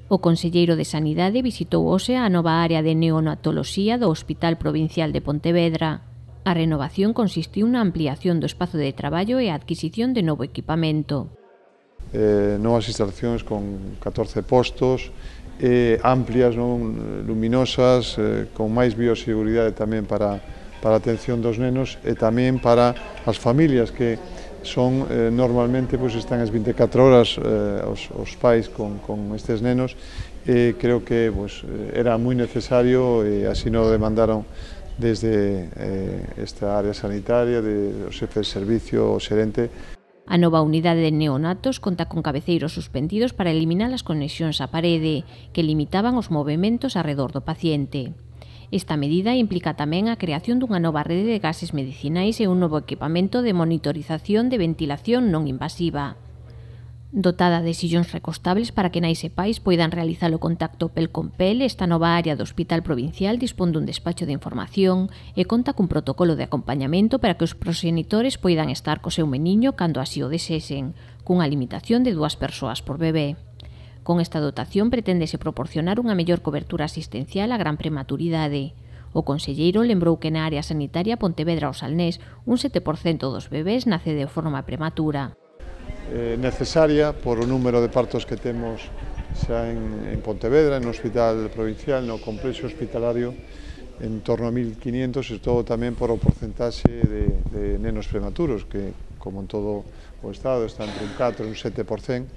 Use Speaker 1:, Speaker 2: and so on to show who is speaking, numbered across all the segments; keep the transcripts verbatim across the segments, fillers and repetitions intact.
Speaker 1: O conselleiro de Sanidade visitou hoxe a nova área de neonatoloxía do Hospital Provincial de Pontevedra. A renovación consistiu na ampliación do espazo de traballo e a adquisición de novo equipamento.
Speaker 2: Eh, novas instalacións con catorce postos, eh, amplias, non, luminosas, eh, con máis bioseguridade tamén para, para a atención dos nenos e tamén para as familias que son, eh, normalmente, pues, están as vinte e catro horas eh, os, os pais con, con estes nenos e creo que pues, era moi necesario e así nos demandaron desde eh, esta área sanitaria, de, o xefe de servicio, o xerente.
Speaker 1: A nova unidade de neonatos conta con cabeceiros suspendidos para eliminar as conexións á parede, que limitaban os movementos arredor do paciente. Esta medida implica tamén a creación dunha nova rede de gases medicinais e un novo equipamento de monitorización de ventilación non invasiva. Dotada de sillóns recostables para que nais e pais poidan realizar o contacto pel con pel, esta nova área do Hospital Provincial dispón dun despacho de información e conta cun protocolo de acompañamento para que os proxenitores poidan estar co seu meniño cando así o desexen, cunha limitación de dúas persoas por bebé. Con esta dotación preténdese proporcionar unha mellor cobertura asistencial á gran prematuridade. O conselleiro lembrou que na área sanitaria Pontevedra ao Salnés un sete por cento dos bebés nace de forma prematura.
Speaker 2: Eh, necesaria por o número de partos que temos xa en, en Pontevedra, no Hospital Provincial, no complexo hospitalario, en torno a mil quinientos, e todo tamén por o porcentaxe de, de nenos prematuros, que, como en todo o Estado, está entre un catro e un sete por cento.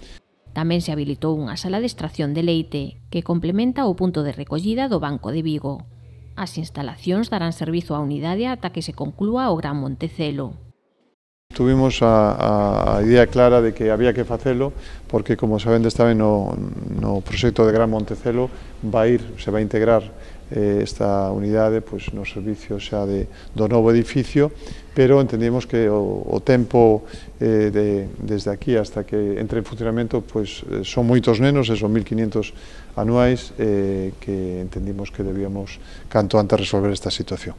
Speaker 1: Tamén se habilitou unha sala de extracción de leite, que complementa o punto de recollida do Banco de Vigo. As instalacións darán servizo á unidade ata que se conclúa o Gran Montecelo.
Speaker 2: Tuvimos a, a idea clara de que había que facelo porque, como sabendes tamén, no, no proxecto de Gran Montecelo vai ir, se vai integrar eh, esta unidade pues, no servicio xa de, do novo edificio, pero entendemos que o, o tempo eh, de, desde aquí hasta que entre en funcionamento pues, son moitos nenos, e son mil quinientos anuais, eh, que entendimos que debíamos canto antes resolver esta situación.